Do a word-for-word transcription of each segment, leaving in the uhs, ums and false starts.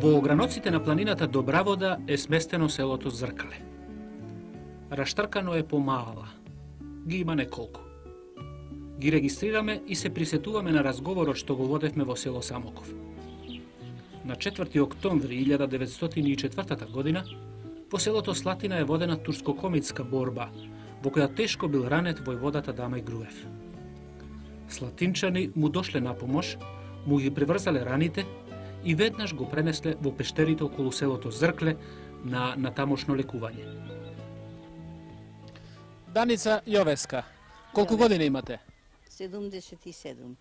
Во ограноците на планината Добравода е сместено селото Зркале. Раштркано е помала. Ги има неколку. Ги регистрираме и се присетуваме на разговорот што го водевме во село Самоков. На четврти октомври илјада деветстотини и четвртата година по селото Слатина е водена турско-комитска борба, во која тешко бил ранет војводата Дамај Груев. Слатинчани му дошле на помош, му ги приврзале раните и веднаш го пренесле во пештерите околу селото Зркле на, на тамошно лекување. Даница Јовеска, колку години имате? седумдесет и седум.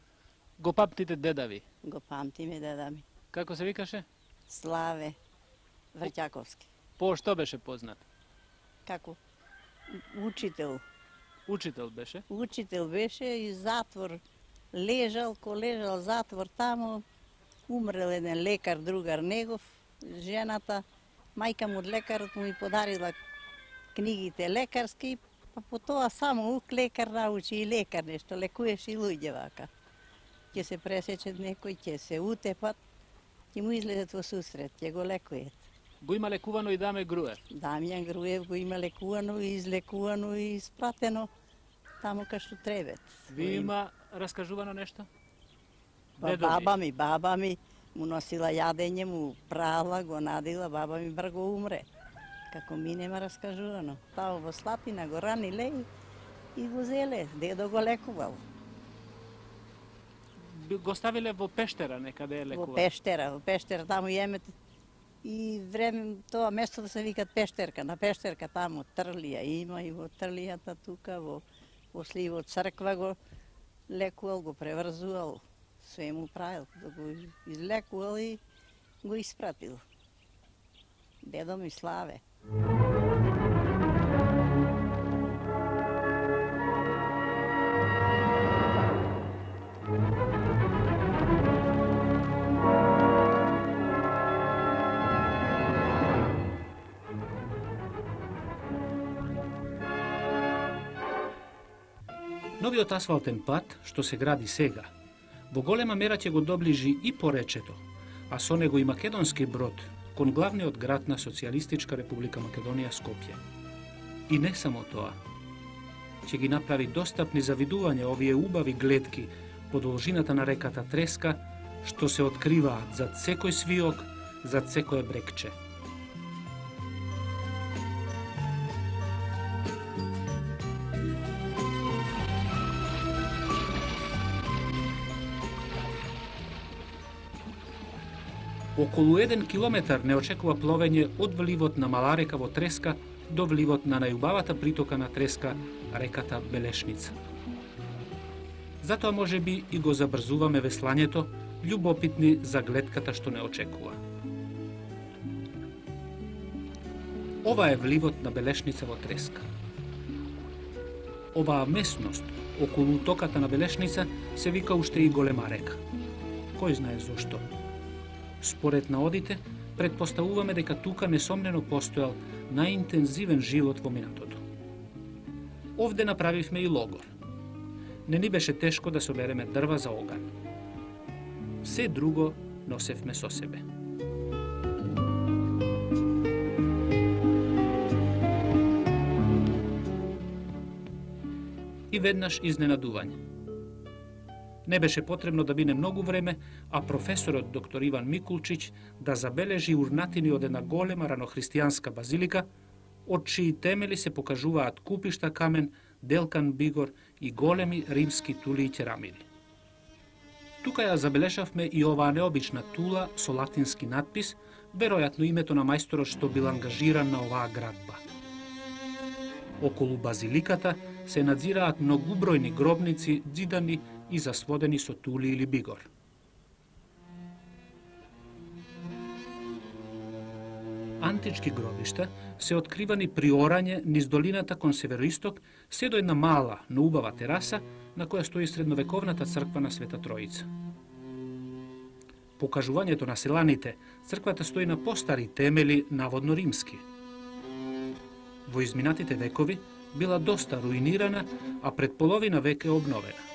Го памтите деда ви? Го памтиме деда ми. Како се викаше? Славе Врќаковски. По што беше познат? Како? Учител. Учител беше? Учител беше и затвор. Лежал, ко лежал затвор тамо, умрел еден лекар, другар негов, жената, мајка му од лекарот му и подарила книгите лекарски, па по тоа само ук лекар научи и лекар нешто, лекуеш и луѓе вака. Ќе се пресечат некој, ќе се утепат, ќе му излезат во сусрет, ќе го лекует. Го има лекувано и Дамај Груев? Дамјан Груев го има лекувано и излекувано и испратено тамо кај што требет. Ви има раскажувано нешто? Ба, баба ми, баба ми му носила јадење, му прала, го надила, баба ми брго умре. Како ми нема раскажувано. Тамо во Слатина го раниле и го зеле, дедо го лекувал. Го ставиле во пештера некаде е лекувал? Во пештера, во пештера, таму јемете. И време тоа место да се викат Пештерка, на Пештерка таму Трлија има и во Трлијата тука, во, во Сливот црква го лекувал, го преврзувал, све му правил, да го излекувал и го испратил. Дедо ми Славе. Новиот асфалтен пат, што се гради сега, во голема мера ќе го доближи и поречето, а со него и македонски брод кон главниот град на Социјалистичка република Македонија Скопје. И не само тоа, ќе ги направи достапни за видување овие убави гледки по должината на реката Треска, што се откриваат зад секој свиок, зад секое брегче. Околу еден километар не очекува пловење од вливот на Мала река во Треска до вливот на најубавата притока на Треска, реката Белешница. Затоа може би и го забрзуваме веслањето, љубопитни за гледката што не очекува. Ова е вливот на Белешница во Треска. Оваа местност околу токата на Белешница се вика уште и Голема река. Кој знае зошто? Според наодите, предпоставуваме дека тука несомнено постојал најинтензивен живот во минатото. Овде направивме и логор. Не ни беше тешко да собереме дрва за оган. Се друго носевме со себе. И веднаш изненадување. Не беше потребно да бине многу време, а професорот доктор Иван Микулчиќ да забележи урнатини од една голема ранохристијанска базилика, од чии темели се покажуваат купишта камен, делкан бигор и големи римски тули и керамиди. Тука ја забележавме и оваа необична тула со латински надпис, веројатно името на мајсторот што бил ангажиран на оваа градба. Околу базиликата се надзираат многубројни гробници, ѕидани и засводени со тули или бигор. Антички гробишта се откривани при орање низ долината кон североисток, се до една мала, но убава тераса, на која стои средновековната црква на Света Троица. По кажувањето на селаните, црквата стои на постари темели, наводно римски. Во изминатите векови била доста руинирана, а пред половина век е обновена.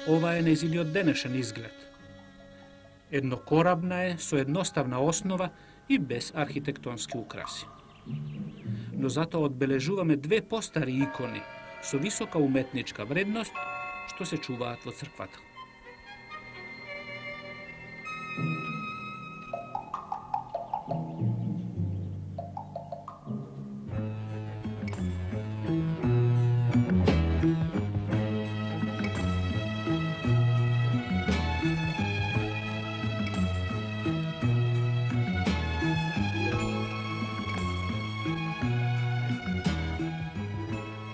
Ова е нејзиниот денешен изглед. Еднокорабна е, со едноставна основа и без архитектонски украси. Но затоа одбележуваме две постари икони со висока уметничка вредност што се чуваат во црквата.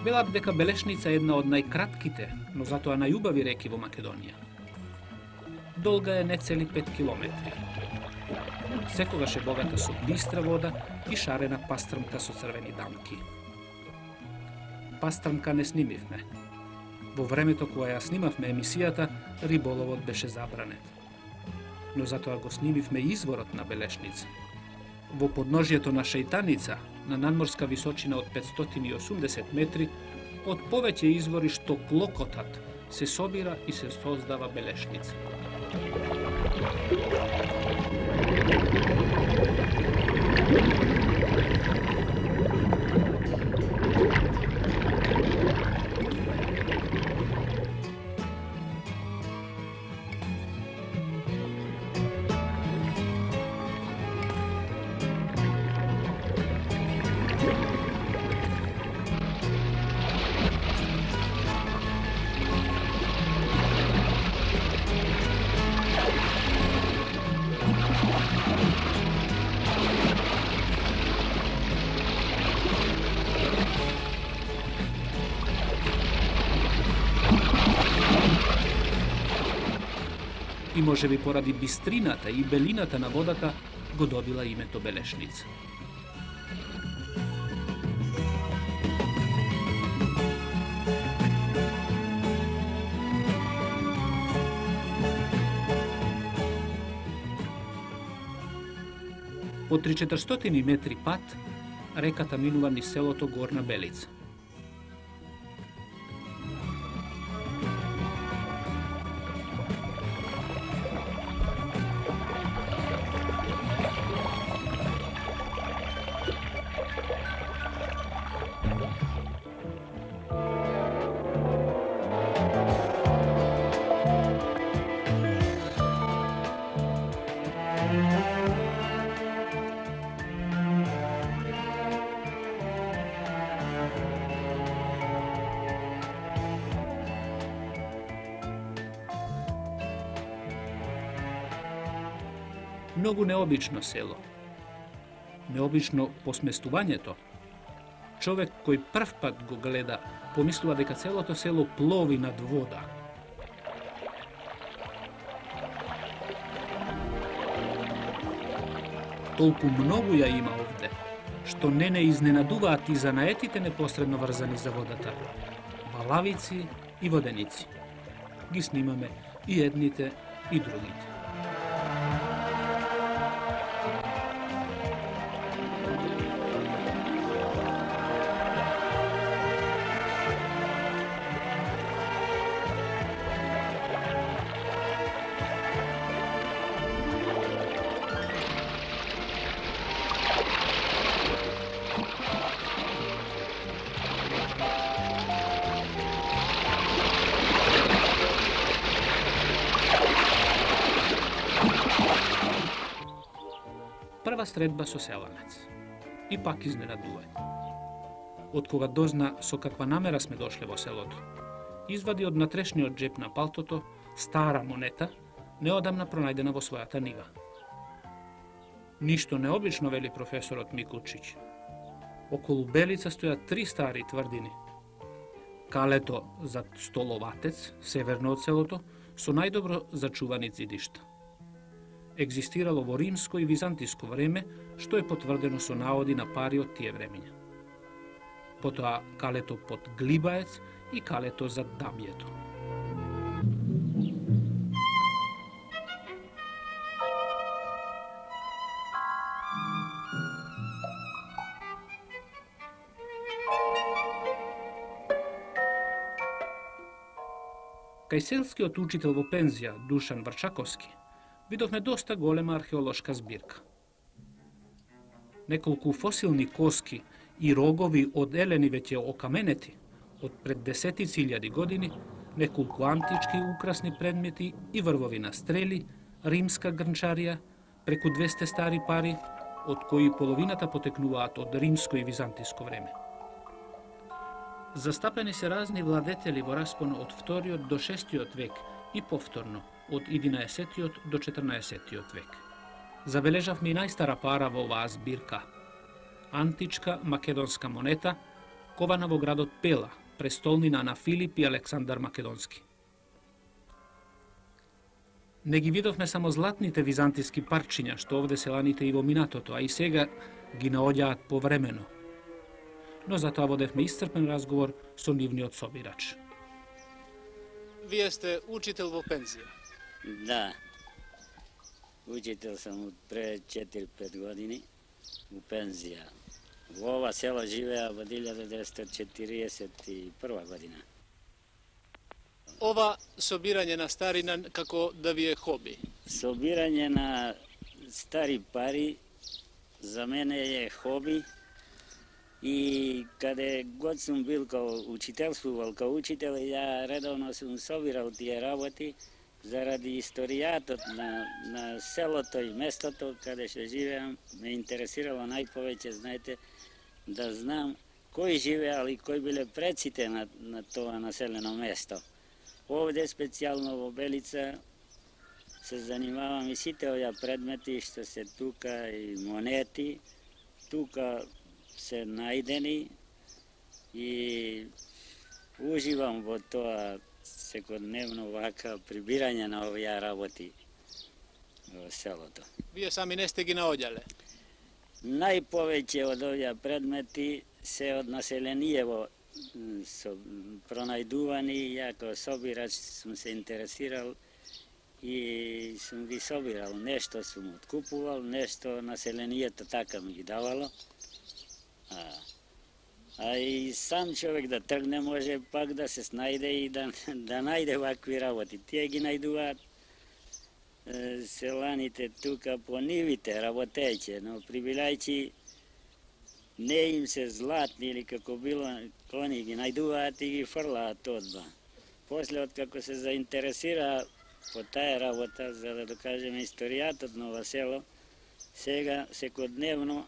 Велат дека Белешница е една од најкратките, но затоа најубави реки во Македонија. Долга е не цели пет километри. Секогаш е богата со бистра вода и шарена пастрмка со црвени дамки. Пастрмка не снимивме. Во времето кога ја снимавме емисијата, риболовот беше забранет. Но затоа го снимивме изворот на Белешница. Во подножјето на Шејтаница, на надморска височина од петстотини и осумдесет метри, од повеќе извори што клокотат се собира и се создава Белешница. И можеби поради бистрината и белината на водата го добила името Белешница. По три-четиристотини метри пат, реката минува низ селото Горна Белица. Многу необично село. Необично по сместувањето. Човек кој прв пат го гледа, помислува дека целото село плови над вода. Толку многу ја има овде, што не не изненадуваат и занаетите непосредно врзани за водата. Балавици и воденици. Ги снимаме и едните и другите. Прва средба со селанец. И пак изненадување. Од кога дозна со каква намера сме дошле во селото, извади од натрешниот джеп на палтото стара монета, неодамна пронајдена во својата нива. Ништо необично, вели професорот Микулчиќ. Околу Белица стојат три стари тврдини. Калето за Столоватец, северно од селото, со најдобро зачувани зидишта. Екзистирало во римско и византиско време, што е потврдено со наоди на пари од тие времења. Потоа калето под Глибаец и калето за Дамјето. Кај селскиот учител во пензија Душан Врчаковски, видовме доста голема археолошка збирка. Неколку фосилни коски и рогови од елени веќе окаменети од пред десетици илјади години, неколку антички украсни предмети и врвови на стрели, римска грнчарија, преку двесте стари пари, од кои половината потекнуваат од римско и византиско време. Застапени се разни владетели во распон од вториот до шестиот век и повторно од единаесеттиот до четрнаесеттиот век. Забележавме и најстара пара во оваа збирка. Античка македонска монета, кована во градот Пела, престолнина на Филип и Александар Македонски. Не ги видовме само златните византиски парчиња, што овде се ланите и во минатото, а и сега ги наоѓаат повремено. Но затоа водевме исцрпен разговор со нивниот собирач. Вие сте учител во пензија. Да. Учител сум од пред четири-пет години у пензија. Во ова село живеа во илјада деветстотини четиридесет и прва година. Ова собирање на старина како да ви е хоби? Собирање на стари пари за мене е хоби и каде год сум бил као учителствувал као учител, ја редовно сум собирал тие работи заради историјатот на, на селото и местото каде што живеам. Ме интересирало најповеќе, знаете, да знам кои живеал и кои биле предците на, на тоа населено место. Овде, специјално во Белица, се занимавам и сите овие предмети што се тука и монети, тука се најдени и уживам во тоа секојдневно вака прибирање на овие работи во селото. Вие сами не сте ги наоѓале? Најповеќе од овие предмети се од населениево со пронајдувани, ја како собирач сум се интересирал и сум ги собирал. Нешто сум откупувал, нешто населението така ми ги давало. А, а и сам човек да тргне може пак да се снајде и да, да најде вакви работи. Тие ги најдуваат е, селаните тука по нивите, работејќи, но прибирајќи не им се златни или како било, они ги најдуваат и ги фрлаат одба. После, откако се заинтересира по таа работа, за да докажеме историјатот на ова село, сега секојдневно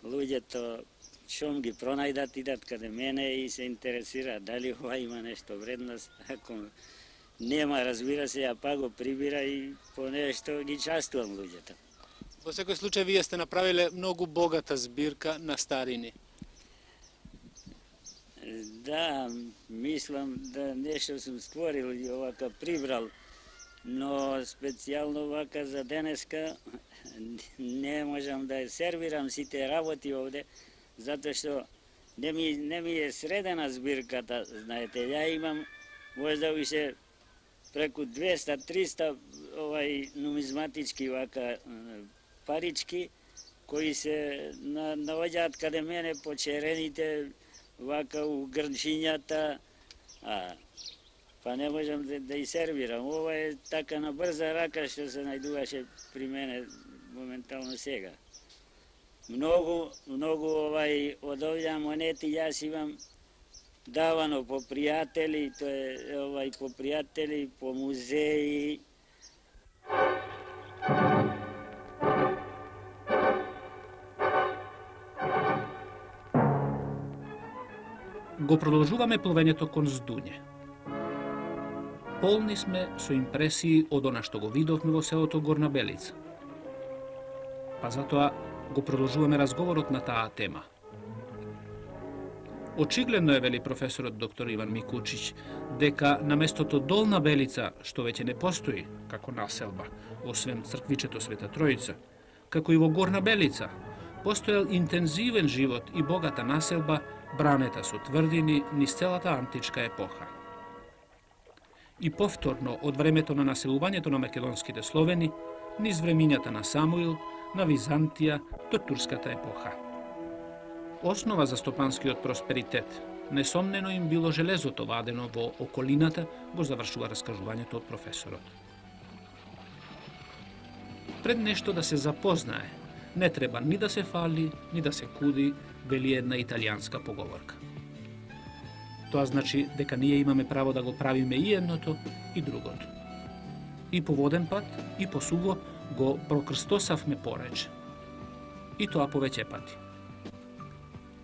луѓето шом ги пронајдат, идат каде мене и се интересираат дали ова има нешто вредност. Ако нема, разбира се, ја па го прибира и по нешто ги частувам луѓето. Во секој случај, вие сте направиле многу богата збирка на старини. Да, мислам да нешто сум створил и овака прибрал, но специјално вака за денеска не можам да сервирам сите работи овде, затоа што не ми, не ми е средена збирката, знаете. Ја имам можда више преку двеста-триста овај нумизматички вака парички кои се на, наоѓаат каде мене по черените, вака у грнчињата, а па не можам да, да и сервирам. Ова е така на брза рака што се најдуваше при мене моментално сега. Многу, многу овај од овие монети јас имам давано по пријатели, тоа е овај по пријатели, по музеи. Го продолжуваме пловењето кон Здуње. Полни сме со импресии од она што го видовме во селото Горна Белица. Па затоа го продолжуваме разговорот на таа тема. Очигледно е, вели професорот доктор Иван Микулчиќ, дека на местото Долна Белица, што веќе не постои како населба, освен црквичето Света Тројица, како и во Горна Белица, постоел интензивен живот и богата населба, бранета со тврдини низ целата античка епоха. И повторно од времето на населувањето на македонските словени, низ времињата на Самуил, на Византија до турската епоха. Основа за стопанскиот просперитет несомнено им било железото вадено во околината, го завршува раскажувањето од професорот. Пред нешто да се запознае, не треба ни да се фали, ни да се куди, вели една италијанска поговорка. Тоа значи дека ние имаме право да го правиме и едното и другото. И по воден пат, и по суво го прокрстосавме порече. И тоа повеќе пати.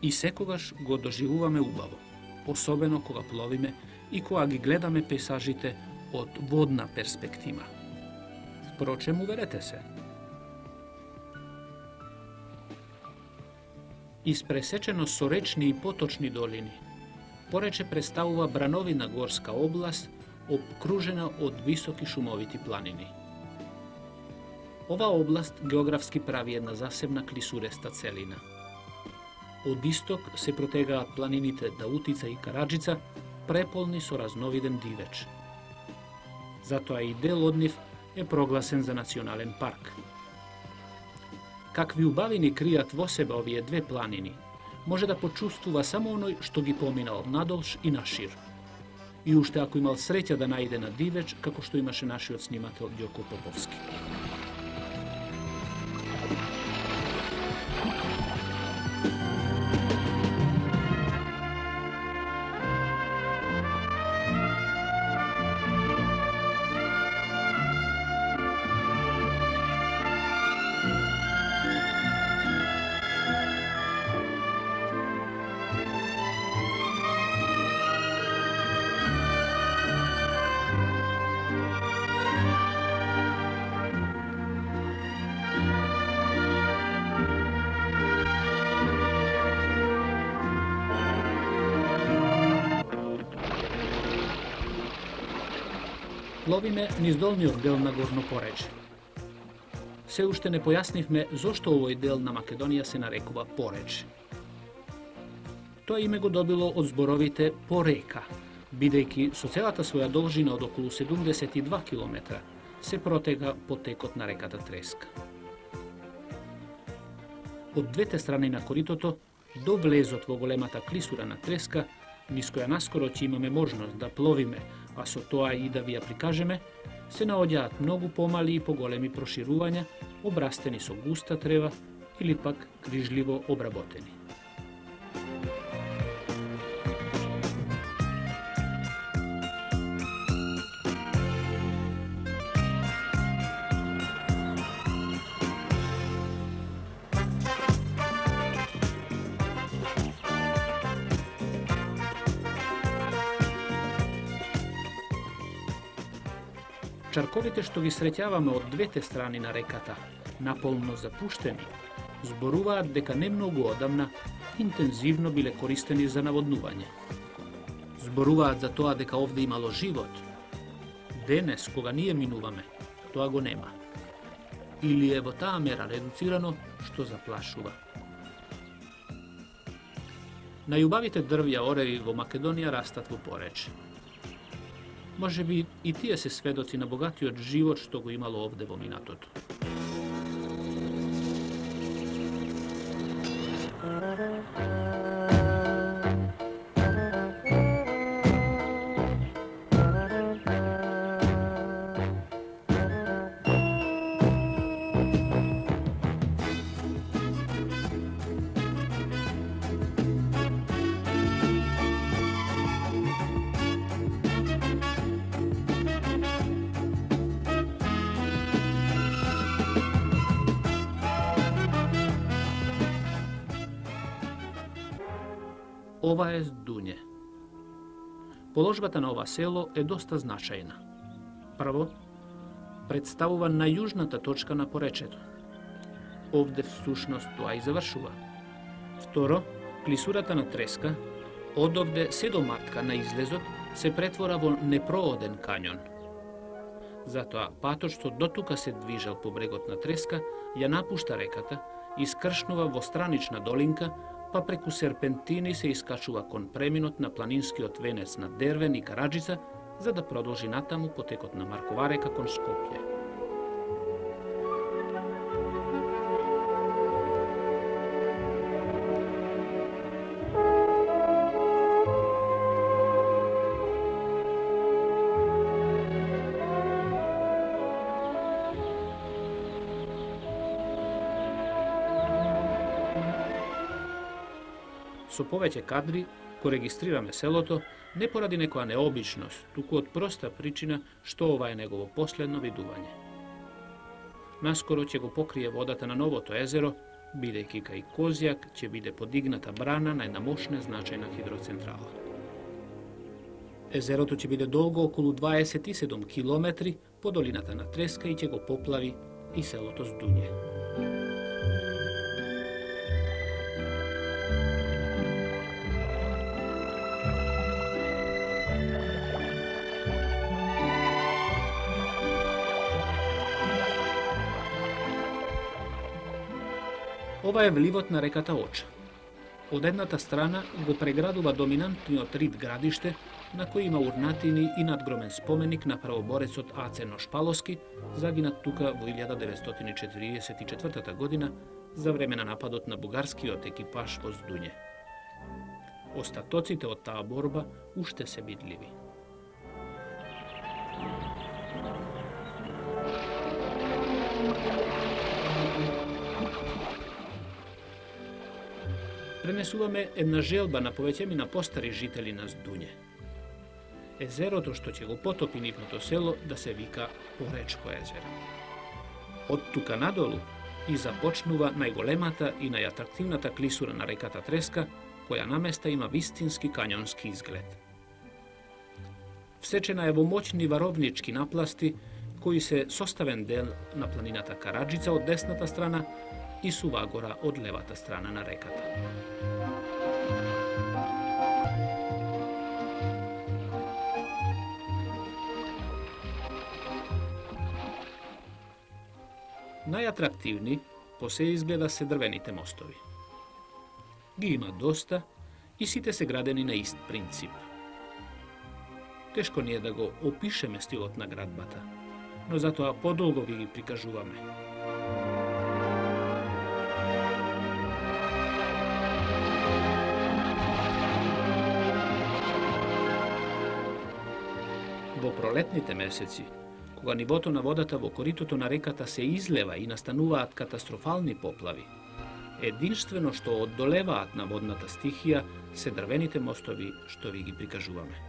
И секогаш го доживуваме убаво, особено кога пловиме и кога ги гледаме пейсажите од водна перспектива. Впрочем, уверете се. Испресечено со речни и поточни долини, порече представува брановина горска област, обкружена од високи шумовити планини. Ова област географски прави една засебна клисуреста целина. Од исток се протегаат планините Даутица и Караджица, преполни со разновиден дивеч. Затоа и дел од нив е прогласен за национален парк. Какви убавини кријат во себе овие две планини, може да почувствува само оној што ги поминал надолж и нашир. И уште ако имал среќа да најде на дивеч, како што имаше нашиот снимател Ѓоко Поповски. Пловиме низ долниот дел на Горно порече. Се уште не појаснивме зошто овој дел на Македонија се нарекува порече. Тоа име го добило од зборовите порека, бидејќи со целата своја должина од околу седумдесет и два километра се протега потекот на реката Треска. Од двете страни на коритото, до влезот во големата клисура на Треска, низ која наскоро ќе имаме можност да пловиме, а со тоа и да ви ја прикажеме, се наоѓаат многу помали и поголеми проширувања, обрастени со густа трева или пак грижливо обработени. Чарковите што ги среќаваме од двете страни на реката, наполно запуштени, зборуваат дека не многу одамна интензивно биле користени за наводнување. Зборуваат за тоа дека овде имало живот. Денес, кога ние минуваме, тоа го нема. Или е во таа мера редуцирано што заплашува. Најубавите дрвја ореви во Македонија растат во порече. Може би и тие се сведоци на богатиот живот што го имало овде во минатото. Ова е Здуње. Положбата на ова село е доста значајна. Прво, представува најјужната точка на поречето. Овде всушност тоа и завршува. Второ, клисурата на Треска, одовде се до матка на излезот, се претвора во непрооден кањон. Затоа патот што дотука се движел по брегот на Треска, ја напушта реката, искршнува во странична долинка, па преку серпентини се искачува кон преминот на планинскиот венец на Дервен и Караджица, за да продолжи натаму потекот на Маркова река кон Скопје. Со повеќе кадри го регистрираме селото не поради некоја необичност, туку од проста причина што ова е негово последно видување. Наскоро ќе го покрие водата на новото езеро, бидејќи кај Козјак ќе биде подигната брана на една мощна значајна хидроцентрала. Езерото ќе биде долго околу дваесет и седум километри по долината на Треска и ќе го поплави и селото Здуње. Ова е вливот на реката Оча. Од едната страна го преградува доминантниот рид градиште, на кој има урнатини и надгромен споменик на правоборецот Ацено Шпаловски, загинат тука во илјада деветстотини четиридесет и четвртата година за време на нападот на бугарскиот екипаж во Здуње. Остатоците од таа борба уште се видливи. Пренесуваме една желба на повеќемина постари жители на Здуње. Езерото што ќе го потопи нивното село да се вика Поречко езеро. Од тука надолу и започнува најголемата и најатрактивната клисура на реката Треска, која наместа има вистински кањонски изглед. Всечена е во моќни варовнички напласти, кои се составен дел на планината Караджица од десната страна и Сувагора од левата страна на реката. Најатрактивни по се изгледа се дрвените мостови. Ги има доста и сите се градени на ист принцип. Тешко ни е да го опишеме стилот на градбата, но затоа подолго ви ги прикажуваме. Во пролетните месеци, кога нивото на водата во коритото на реката се излева и настануваат катастрофални поплави, единствено што оддолеваат на водната стихија се дрвените мостови што ви ги прикажуваме.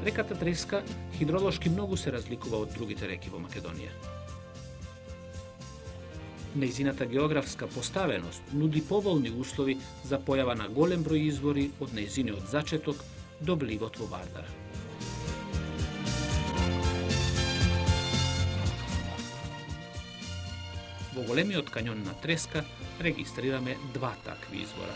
Реката Треска хидролошки многу се разликува од другите реки во Македонија. Нејзината географска поставеност нуди поволни услови за појава на голем број извори од нејзиниот зачеток до вливот во Вардара. Во големиот кањон на Треска регистрираме два такви извора.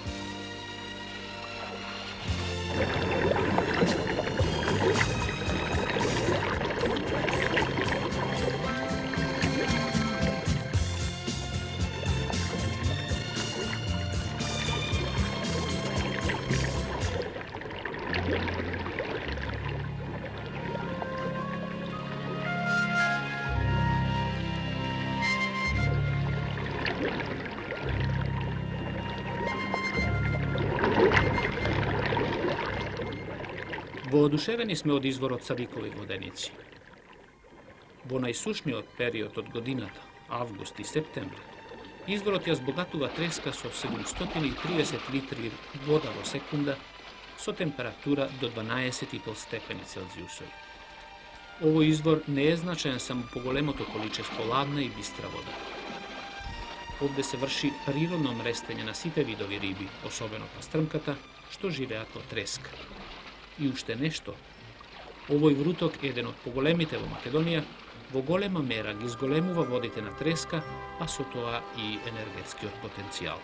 Воодушевени сме од изворот Савикови воденици. Во најсушниот период од годината, август и септември, изворот ја збогатува Треска со седумстотини и триесет литри вода во секунда со температура до дванаесет и пет степени Целзиусови. Овој извор не е значаен само по големото количество ладна и бистра вода. Овде се врши природно мрестење на сите видови риби, особено пастрмката, што живеат во Треска. И уште нешто, овој вруток е еден од поголемите во Македонија, во голема мера ги зголемува водите на Треска, а со тоа и енергетскиот потенцијал.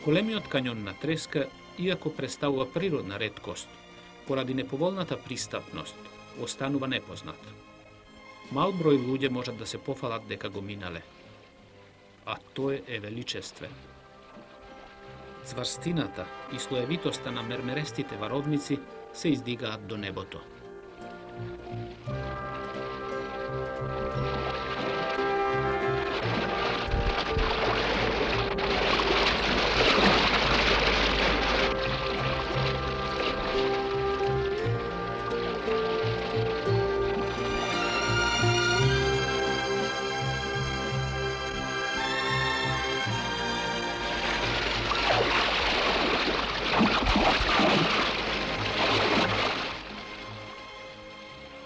Големиот кањон на Треска, иако представува природна реткост, поради неповолната пристапност, останува непознат. Мал број луѓе можат да се пофалат дека го минале, а тој е величествен. Цврстината и слоевитоста на мермерестите варовници се издигаат до небото.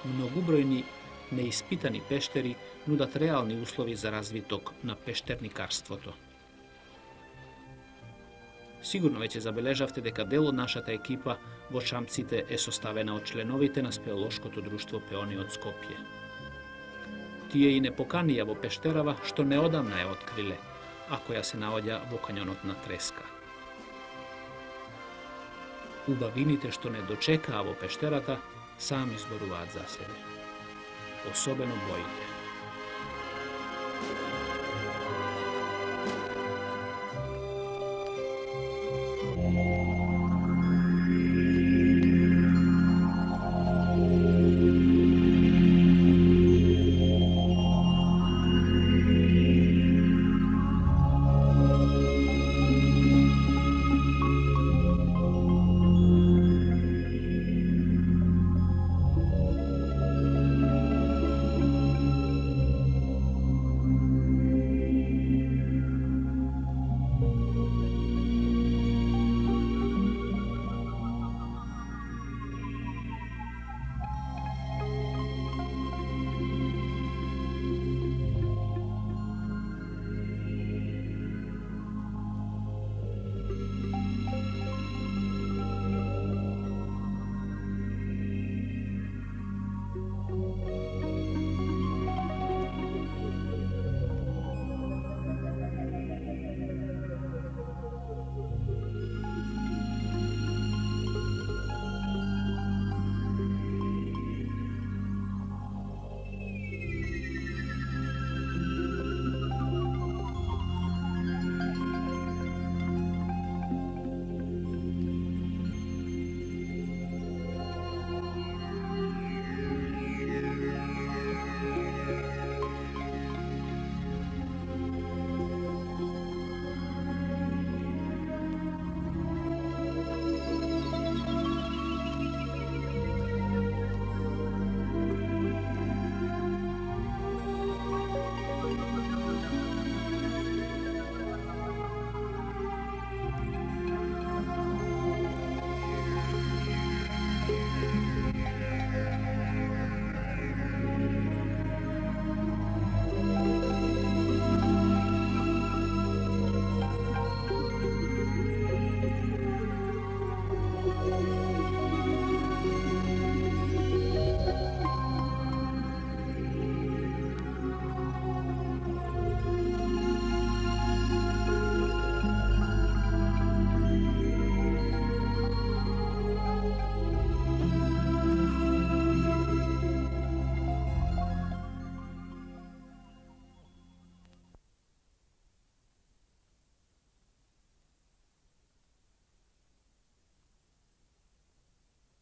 Многубројни неиспитани пештери нудат реални услови за развиток на пештерникарството. Сигурно веќе забележавте дека дел од нашата екипа во Шамците е составена од членовите на спелеолошкото друштво Пеони од Скопје. Тие и не поканија во пештерава што неодамна ја откриле, а која се наоѓа во кањонот на Треска. Убавините што не дочекаа во пештерата сами зборуваат за себе. Особено боите.